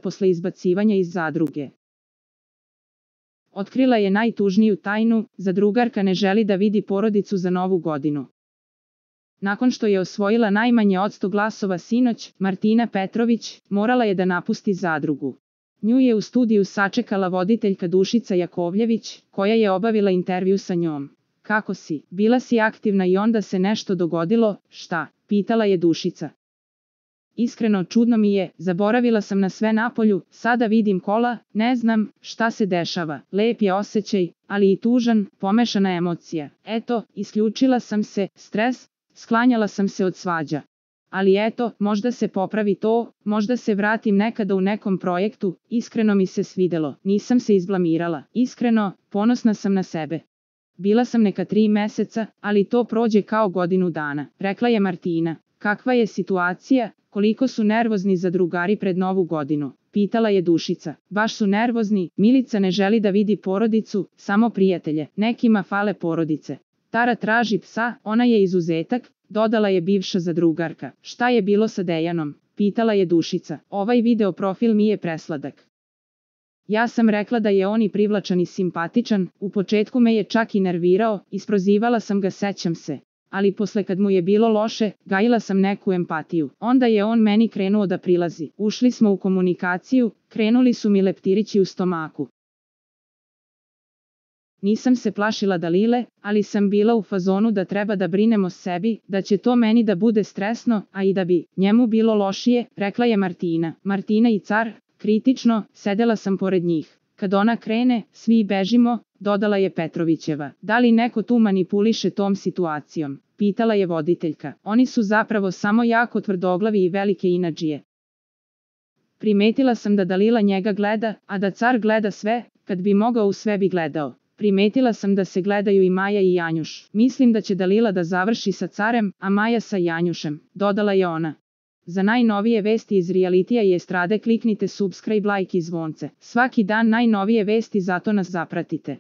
posle izbacivanja iz zadruge. Otkrila je najtužniju tajnu, zadrugarka ne želi da vidi porodicu za Novu godinu. Nakon što je osvojila najmanje od 100 glasova sinoć, Martina Petrović morala je da napusti zadrugu. Nju je u studiju sačekala voditeljka Dušica Jakovljević, koja je obavila intervju sa njom. Kako si? Bila si aktivna i onda se nešto dogodilo, šta? Pitala je Dušica. Iskreno čudno mi je, zaboravila sam na sve napolju, sada vidim kola, ne znam šta se dešava. Lep je osjećaj, ali i tužan, pomešana emocija. Eto, isključila sam se, stres, sklanjala sam se od svađa. Ali eto, možda se popravi to, možda se vratim nekada u nekom projektu, iskreno mi se svidelo, nisam se izblamirala, iskreno, ponosna sam na sebe. Bila sam neka 3 meseca, ali to prođe kao godinu dana, rekla je Martina. Kakva je situacija, koliko su nervozni zadrugari pred Novu godinu? Pitala je Dušica. Baš su nervozni, Milica ne želi da vidi porodicu, samo prijatelje, nekima fale porodice. Tara traži psa, ona je izuzetak, dodala je bivša zadrugarka. Šta je bilo sa Dejanom? Pitala je Dušica. Ovaj video profil mi je presladak. Ja sam rekla da je on i privlačan i simpatičan, u početku me je čak i nervirao, isprozivala sam ga, sećam se. Ali posle kad mu je bilo loše, gajila sam neku empatiju. Onda je on meni krenuo da prilazi. Ušli smo u komunikaciju, krenuli su mi leptirići u stomaku. Nisam se plašila Dalile, ali sam bila u fazonu da treba da brinem o sebi, da će to meni da bude stresno, a i da bi njemu bilo lošije, rekla je Martina. Martina i Car, kritično, sedela sam pored njih. Kad ona krene, svi bežimo, dodala je Petrovićeva. Da li neko tu manipuliše tom situacijom? Pitala je voditeljka. Oni su zapravo samo jako tvrdoglavi i velike inadžije. Primetila sam da Dalila njega gleda, a da Car gleda sve, kad bi mogao u sve bi gledao. Primetila sam da se gledaju i Maja i Janjuš. Mislim da će Dalila da završi sa Carem, a Maja sa Janjušem, dodala je ona. Za najnovije vesti iz realitija i estrade kliknite subscribe, like i zvonce. Svaki dan najnovije vesti, zato nas zapratite.